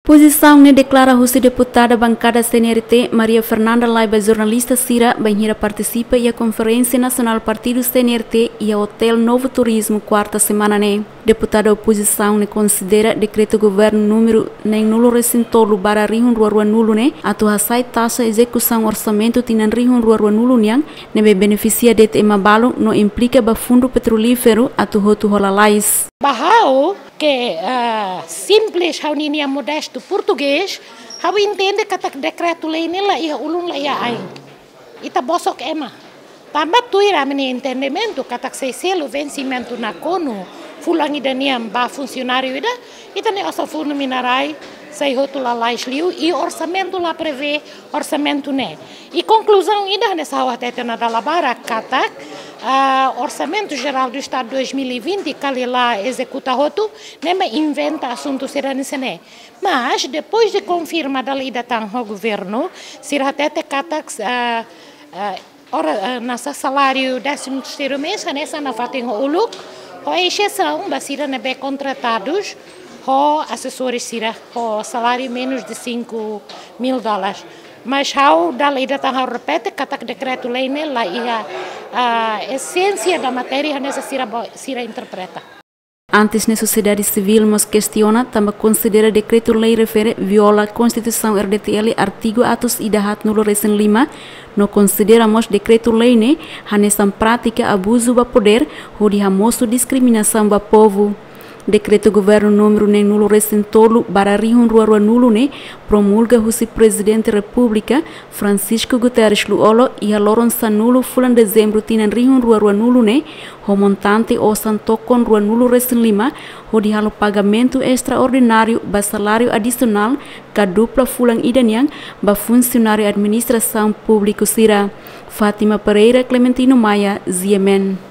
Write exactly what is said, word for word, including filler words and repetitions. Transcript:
Pozisaun ne'e deklara husi deputada bankada C N R T, Maria Fernanda Laiba, jornalista sira bainhira partisipa iha Konferénsia Nasionál Partidu C N R T iha Hotel Novo Turismo, kuarta semana ne'e. Deputada opozisaun ne'e konsidera dekretu governu númeru neen-nulu resin tolu barra rihun rua rua nulu ne'e atu hasa'e taxa ezekusaun orsamentu tinan rihun rua rua nulu nian, ne'ebé benefisia de'it ema balu no implika ba fundu petrolíferu atu hotu ho lalais. Ba ha'u ke, ah, simples, ha'u-ninia modestu portugés, ha'u entende katak dekretu-lei ne'e la iha ulun, la iha ain. Ita bosok ema. Tanba tuir ami-nia entendimentu katak sei selu vensimentu nakonu fulan ida nian ba funsionáriu ida, ita-nia osan fundu mina-rai sei hotu lalais liu, i orsamentu la prevee orsamentu ne'e. I konkluzaun ida hanesan ha'u hatete ona dala barak katak, ah, Orsamentu Jerál do Estadu dois mil e vinte kala la ezekuta hotu, ne'e mak inventa asuntu sira hanesan ne'e. Mas, depois de konfirma dala ida tan ho governu, sira hatete katak, ah, ah, ora, ah, hanesan saláriu décimo terceiro mês, hanesan nafatin ho uluk, ho exesaun ba sira ne'ebé kontratadus ho asesores sira ho saláriu menus de cinco mil dólares. Mas ha'u dala ida tan ha'u repete katak dekretu-lei ne'e la iha, ah, esénsia da matéria hanesan sira bo-, sira interpreta. Antes ne'e sosiedade sivíl mós kestiona tanba konsidera dekretu-lei refere viola Konstituisaun R D T L artigu atus ida haat-nulu resin lima, no konsidera mós dekretu-lei ne'e hanesan prátika abuzu ba podér hodi hamosu diskriminasaun ba povu. Dekretu governu númeru neen-nulu resin tolu barra rihun rua rua nulu ne'e promulga husi Prezidente Repúblika, Francisco Guterres Lú-Olo, iha loron sanulu fulan Dezembru tinan rihun rua rua nulu ne'e, ho montante osan tokon rua-nulu resin lima, hodi halo pagamentu estraordináriu ba saláriu adisionál ka dupla fulan ida nian ba funsionáriu administrasaun públiku sira. Fátima Pereira, Clementino Maia, G M N.